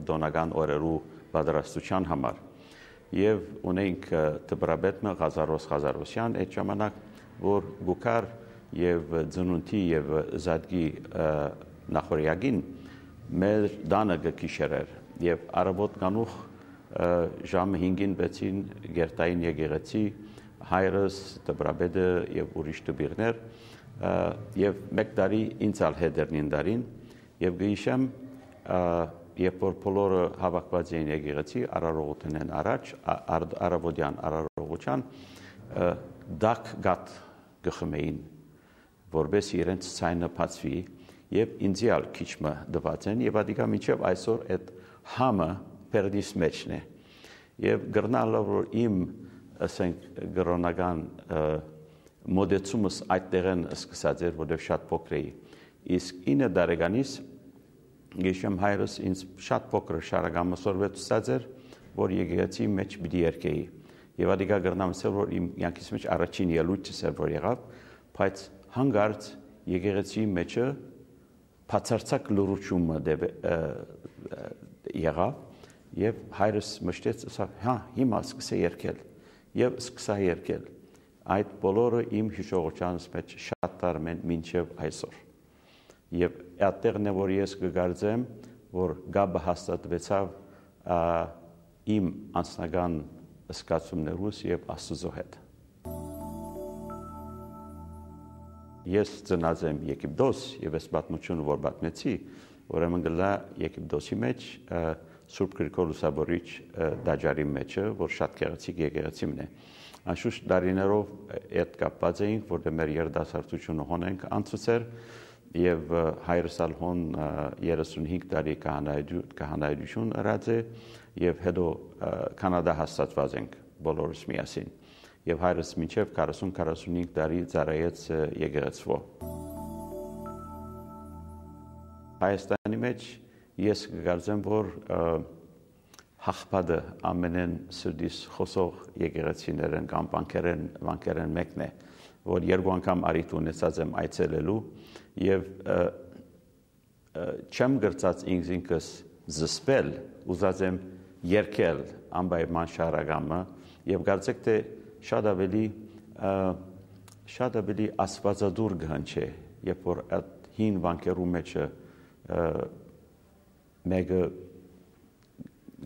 դոնական օրերու պատրաստության համար։ Եվ ունենք դպրաբետը Ղազարոս Ղազարոսյան այդ ժամանակ, որ գուկար եւ ծնունդի եւ զադգի նախորյակին մեր դանը գկիշերեր եւ արաբոտ կանուխ ժամը 5-ին 6-ին գերտային եկեղեցի հայրս դպրաբետը եւ ուրիշ դպիրներ եւ մեկ տարի ինձ ալ հետերնին դարին եւ գիշեմ երբ որ բոլորը հավաքված էին եկեղեցի արարողութենեն առաջ արաբոդյան արարողության դակ գատ գխմեին որպես իրենց ցայնը բացվի եւ ինձիալ քիչմը դված են եւ ադիկա միջև այսօր այդ համը պերդիս մեջն է եւ գրնալը որ իմ ասենք գրոնական մոդեցումս այդտեղեն սկսած էր որովհետեւ շատ փոքր էի իսկ 9 տարեկանից գիշեմ հայրս ինձ շատ փոքր շարագամասորվեցած էր որ եկեղեցի մեջ պիտի երկեի եւ ադիկա գրնամսել որ իմ յանքիս մեջ առաջին ելույթս էր որ եղավ բայց հանգարց եկեղեցի մեջը բացարձակ լուրությունը եղավ եւ հայրս մշտեց ասա հա հիմա սկսե երկել եւ սկսա երկել այդ բոլորը իմ հիշողությանս մեջ շատ տարում են մինչեւ այսօր եւ այդտեղն է որ ես կգարձեմ որ գաբը հաստատվեցավ իմ անձնական զգացումներուս եւ Աստծո հետ ես ծնած եմ Եգիպտոս եւ այս պատմությունը որ պատմեցի ուրեմն գլա Եգիպտոսի մեջ Սուրբ Գրիգոր Լուսավորիչ դաջարի մեջը որ շատ գեղեցիկ եկեղեցին է անշուշտ դարիներով այդ կապված էինք որտեղ մեր երդասարտությունը հոնենք անցուցեր եւ հայրսալ հոն 35 տարի քահանայություն ըրած է եւ հետո կանադա հաստատված ենք բոլորս միասին եւ հայրս մինչեւ 40-45 տարի ծառայեց եկեղեցվո Հայաստանի մեջ ես կգարձեմ որ հաղպատը ամենեն սրդիս խոսող եկեղեցիներն կամ բանկերեն մեկն է որ երկու անգամ արիթ ունեցած եմ այցելելու եւ չեմ գրծած ինքս զսպել ուզած եմ երկել անպայման շարագամը եւ կարծեք թե շատ ավելի աստվածադուր գհնչե երբ որ այդ հին բանկերու մեջը մեկը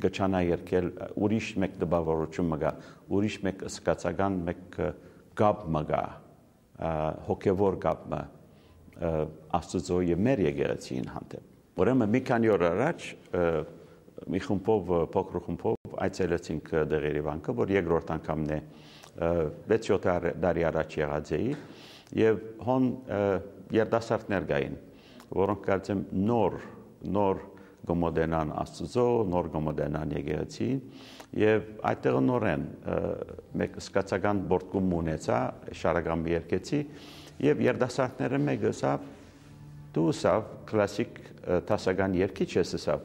գչանա երկել ուրիշ մեկ դպավորություն մգա ուրիշ մեկ սկացական մեկ գապ մգա հոգևոր գապը Աստծո եւ մեր եկեղեցին հանդեպ ուրեմն մի քանի օր առաջ մի խումբով փոքր խումբով այցելեցինք դեղերի բանկը որ երկրորդ անգամն է 6-7 տարի առաջ եղած էի եւ հոն երդասարտներ գային որոնք կարծեմ նոր գոմոդենան Աստծո նոր գոմոդենան եկեղեցին եւ այդտեղ նորեն մեկ սկացական բորտկում ունեցա շարագամի երկեցի եւ երդասարտները մեկը սա դու սա կլասիկ տասական երկիչ ես սա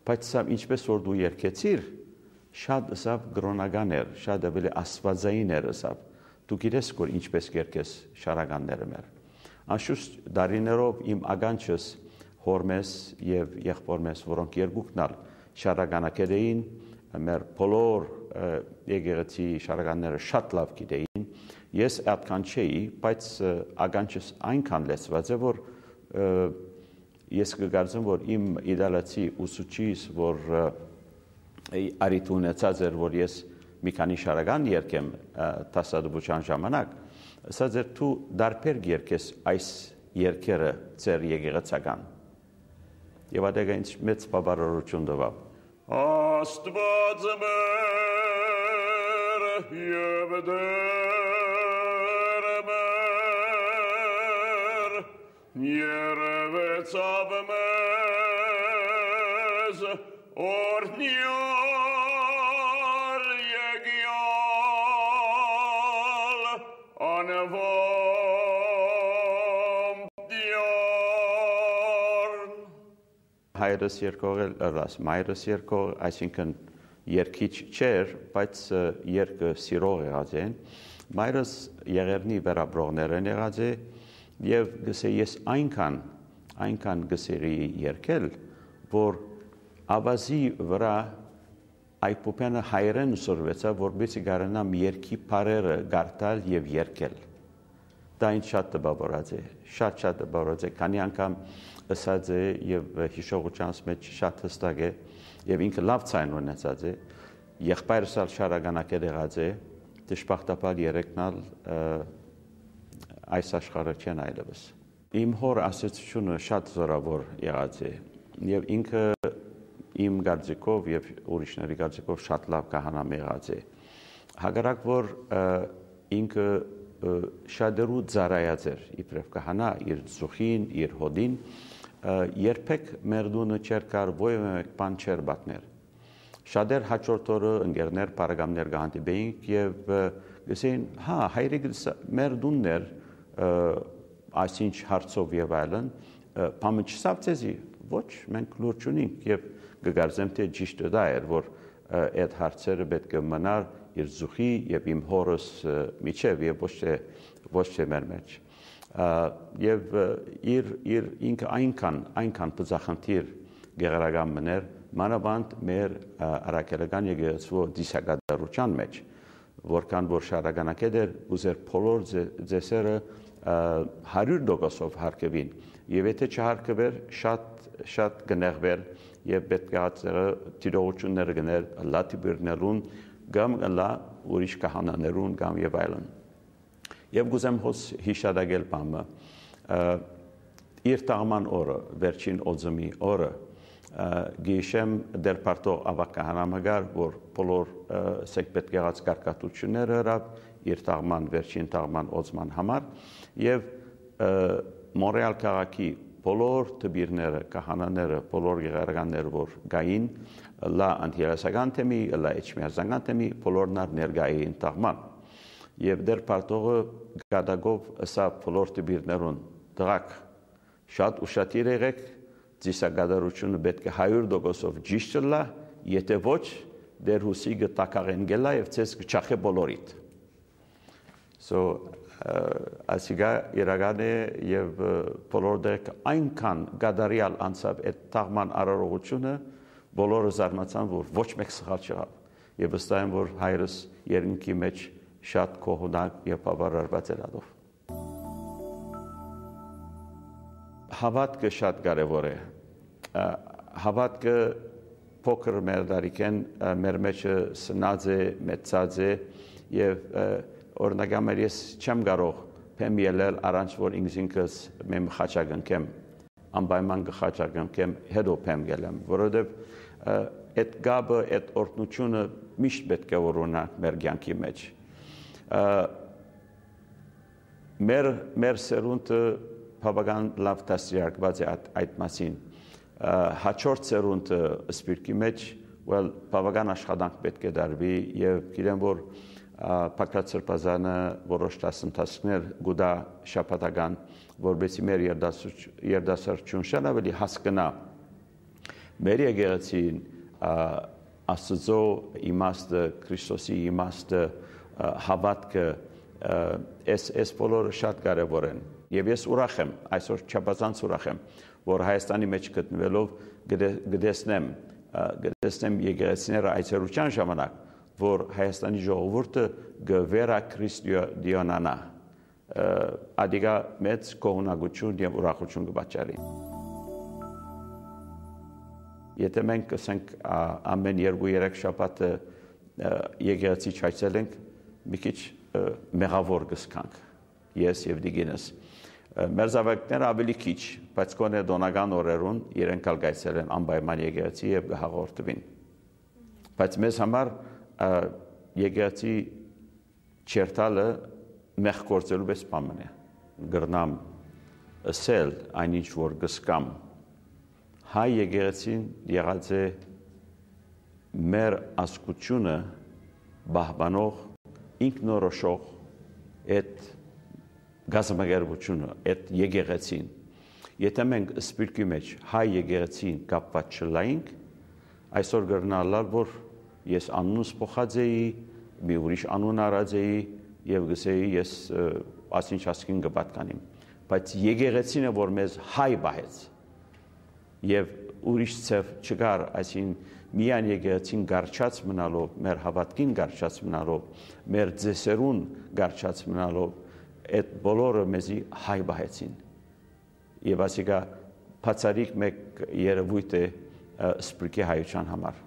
բայց սա ինչպես որ դու երկեցիր շատ սա գրոնական էր շատ ավելի աստվածային էր սա դու գիտես որ ինչպես երկես շարագանները մեր անշուշտ դարիներով իմ ագանչս հորմես եւ եղբորմես որոնք երկուքնալ շարագանակեր էին մեր բոլոր եկեղեցի շարագանները շատ լավ գիտեին ես այդքան չէի բայց ագանչս այնքան լեցված է որ ես կգարձեմ որ իմ իդալացի ուսուցիչս որ արիթ ունեցած էր որ ես մի քանի շարագան երկեմ տասադուբուչան ժամանակ ասած էր դու դարբեր երկես այս երկերը ծեր եկեղեցական եւ ադեգա ինձ մեծ բավարարություն տվավ Աստված մեր եւ Տեր մեր երևեցավ մեզ օրհնյալ եկյալ անվամ դյարն հայրս երկողել ըրաս մայրս երկող այսինքն երկիչ չէր բայց երկը սիրող եղած են մայրս եղերնի վերաբրողներ են եղած է եւ գսե ես այնքան գսերի երկել որ ավազի վրա այպուպենը հայերեն ուսորվեցա, որբեցի գարանամ երկի պարերը գարտալ և երկել։ Դա ինձ շատ տպավորած է, շատ տպավորած է, քանի անգամ ըսած է և հիշողությանս մեջ շատ հստակ է, և ինքը լավ ցայն ունեցած է, եղբայրս ալ շարագանակել եղած է, դժբախտաբար երեքնալ այս աշխարհը չեն այլևս։ Իմ հոր ասացությունը շատ զորավոր եղած է, և ինքը իմ կարծիքով և ուրիշների կարծիքով շատ լավ քահանա եղած է։ Հակառակ որ ինքը շատերու ծառայած էր իբրև քահանա, իր զուխին, իր հոդին, երբեք մեր դունը չէր կար ոյը մեկ բան չէր պատմեր։ Շատեր հաջորդ օրը ընկերներ, բարեկամներ կհանդիպեինք և գսեին, հա, հայրիկս մեր դունն էր այսինչ հարցով և այլն, բամը չսավ ձեզի, ոչ, մենք լուր չունենք և կգարձեմ, թե ճիշտը դա էր, որ այդ հարցերը պետք է մնար իր զուխի և իմ հորս միջև և ոչ թե մեր մեջ։ Եվ ինքը այնքան բծախնդիր գեղարական մներ, մանավանդ մեր առաքելական եկեղեցու դիսակատարության մեջ, որքան որ շարականակետ էր ուզեր բոլոր ձեսերը 100%-ով հարկվին, և եթե չհարկվեր, շատ կնեղվեր և պետք է տիրողությունները գներ լատիբիրներուն կամ լա ուրիշ կահանաներուն կամ և այլն։ Եվ գուզեմ հոս հիշադակել բամը, իր տաղման օրը, վերջին օձմի օրը, գիշեմ դեր պարտող ավակ կահանամագար, որ բոլոր սեք պետք եղած կարկատությունները հրավ իր տաղման, վերջին տաղման օձման համար և Մոնրեալ քաղաքի բոլոր տբիրները, կահանաները, բոլոր գեղարականները, որ գային, լա անտիերասական թեմի, լա էջմիածանական թեմի, բոլորն ներկա էին տաղման։ Եվ դեր պարտողը գադագով ըսա բոլոր տբիրներուն, դղակ, շատ ուշադիր եղեք, ծիսագադարությունը պետք է 100%-ով ճիշտ լա, եթե ոչ, դեր հուսի գտակաղեն գելա և ձեզ կչախե բոլորիդ։ Ասիգա իրական է և բոլոր դեք այնքան գադարյալ անցավ այդ տաղման արարողությունը, բոլորը զարմացան, որ ոչ մեկ սխալ չեղավ, և վստահ եմ, որ հայրս երկնքի մեջ շատ կողունակ և բավարարված էր ադով։ Հավատքը շատ կարևոր է, հավատքը փոքր մեր դարիքեն մեր մեջը սնած է, մեծած է և օրինակամեր ես չեմ կարող փեմ ելել առանց որ ինքս մեմ խաչակնքեմ, անպայման կխաչակնքեմ, հետո փեմ գելեմ, որովհետև այդ գաբը, այդ օրհնությունը միշտ պետք է ունենանք մեր կյանքի մեջ։ Մեր սերունդը բավական լավ դաստիարակված է այդ մասին։ Հաջորդ սերունդը սպիրկի մեջ բավական աշխատանք պետք է դարվի և գիտեմ, որ Պակրատ Սրբազանը որոշ դասընթացներ գուտա շաբաթական, որպեսզի մեր երդասարություն շատ ավելի հասկանա մեր եկեղեցին, Աստծո իմաստը, Քրիստոսի իմաստը, հավատքը, այս բոլորը շատ կարևոր են։ Եվ ես ուրախ եմ, այսօր չափազանց ուրախ եմ, որ Հայաստանի մեջ գտնվելով գտեսնեմ եկեղեցիները այցելության ժամանակ, որ Հայաստանի ժողովուրդը գվերաքրիստոնյանա, ադիգա մեծ կողունակություն և ուրախություն կպատճառի։ Եթե մենք կսենք ամեն 2-3 շաբաթ եկեղեցի չայցելենք, մի քիչ մեղավոր կզգանք, ես և դիգինս։ Մեր զավակները ավելի քիչ, բայց գոնե տոնական օրերուն իրենք ալ կայցելեն անպայման եկեղեցի և կհաղորդվին։ Բայց մեզ համար եկեղեցի չերտալը մեղ գործելու պես բան է։ Գրնամ ըսել այնինչ որ կզգամ, հայ եկեղեցին եղած է մեր ազգությունը պահպանող, ինքնորոշող այդ գազամագերբությունը, այդ եկեղեցին։ Եթե մենք սպիրկի մեջ հայ եկեղեցին կապված չլայինք, այսօր կգրնալալ, որ ես անունս փոխած էի, մի ուրիշ անուն արած էի և գսեի ես ասինչ կպատկանիմ։ Բայց եկեղեցին է, որ մեզ հայ պահեց և ուրիշ ցև չկար, այսին միայն եկեղեցին գարչած մնալով, մեր հավատքին գարչած մնալով, մեր ձեսերուն գարչած մնալով, այդ բոլորը մեզի հայ բահեցին։ Եվ ասիկա բացարիք մեկ երևույթ է սպրկի հայության համար։